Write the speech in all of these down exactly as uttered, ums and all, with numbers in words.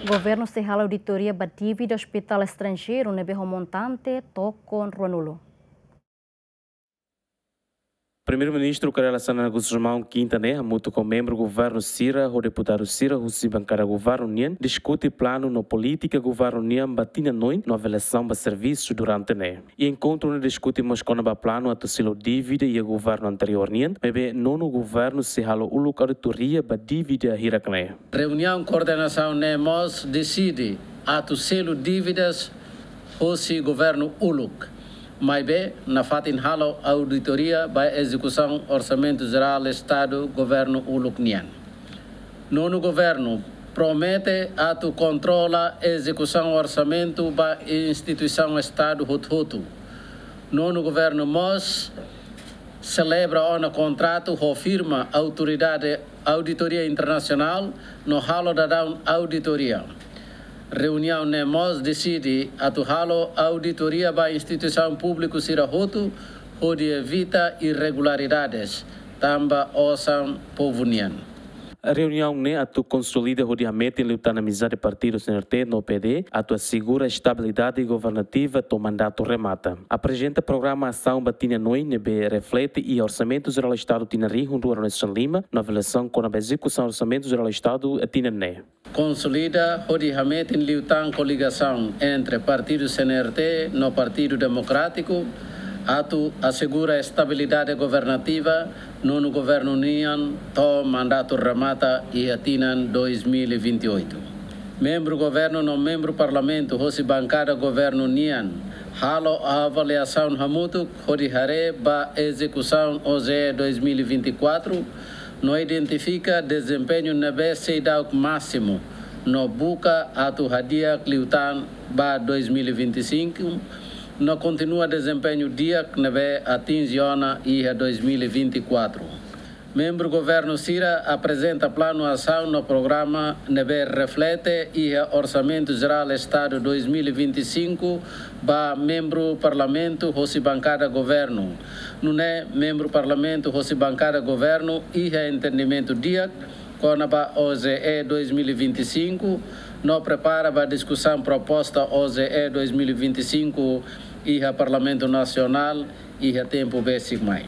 Governu sei halo auditoria ba dívida ospitál estranjeiru ne'ebé ho montante tokon ruanulu. Primeiru-Ministru Kay Rala Xanana Gusmão, kinta ne'e, hamutuk ho membru governu sira ho deputadu sira husi bankada governu nian, diskute planu no polítika governu nian ba tinan oin no avaliasaun ba servisu durante ne'e. Iha enkontru ne'e diskute mós kona-ba planu atu selu dívida iha governu anteriór nian, maibé nonu governu sei halo uluk auditoria ba dívida hirak ne'e. Reuniaun koordenasaun ne'e mós deside atu selu dívidas hosi governu uluk, maibé nafatin halo auditoria ba ezekusaun Orsamentu Jerál Estadu governu uluk nian. Nonu governu promete atu kontrola ezekusaun orsamentu ba instituisaun Estadu hotu-hotu. Nonu governu mós selebra ona kontratu ho firma Autoridade Auditoria Internasionál no halo daudaun auditoria. Reuniaun ne'e mós deside atu halo auditoria ba instituisaun públiku sira hotu, hodi evita irregularidades tanba osan povu nian. Reuniaun ne'e atu konsolida hodi hametin liután amizade partidu C N R T no P D atu asegura estabilidade governativa to'o mandatu remata. Aprezenta programa asaun ba tinan oin ne'ebé reflete iha Orsamentu Jerál Estadu tinan rihun rua ruanulu-resin-lima no avaliasaun kona-ba ezekusaun Orsamentu Jerál Estadu tinan ne'e. Konsolida hodi hametin liután koligasaun entre partidu C N R T no Partidu Demokrátiku atu asegura estabilidade governativa, nonu governu nian to'o mandatu remata iha tinan dois mil e vinte e oito. Membru governu no membru parlamentu hosi bankada governu nian halo avaliasaun hamutuk hodi haree ba ezekusaun O J E dois mil e vinte e quatro, no identifika dezempeñu ne'ebé seidauk másimu, no buka atu hadi'a liután ba dois mil e vinte e cinco, no kontinua dezempeñu di'ak ne'ebé atinje ona iha dois mil e vinte e quatro. Membru governu sira aprezenta planu asaun no programa ne'ebé reflete iha Orsamentu Jerál Estadu dois mil e vinte e cinco ba membru parlamentu hosi bankada governu. Nune'e membru parlamentu hosi bankada governu iha entendimentu di'ak kona-ba O J E dois mil e vinte e cinco, no prepara ba diskusaun proposta O J E dois mil e vinte e cinco iha Parlamentu Nasionál iha tempu besik mai.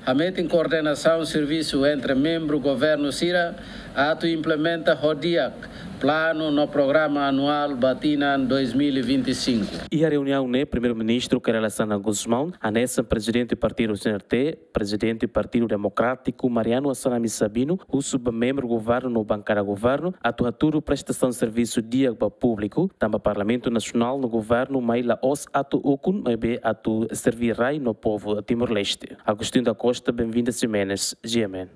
Hametin koordenasaun servisu entre membru governu sira atu implementa ho di'ak planu no programa anuál ba tinan dois mil e vinte e cinco. Iha reuniaun ne'e, Primeiru-Ministru Kay Rala Xanana Gusmão, hanesan Prezidente Partidu C N R T, Prezidente Partidu Demokrátiku Mariano Assanami Sabino, husu ba membru governu no bankada governu atu hatudu prestasaun servisu di'ak ba públiku, tanba Parlamentu Nasionál no governu mai la'ós atu ukun, maibé atu serbí rai no povu Timor-Leste. Agostinho da Costa, Benvinda Ximenes, G M N.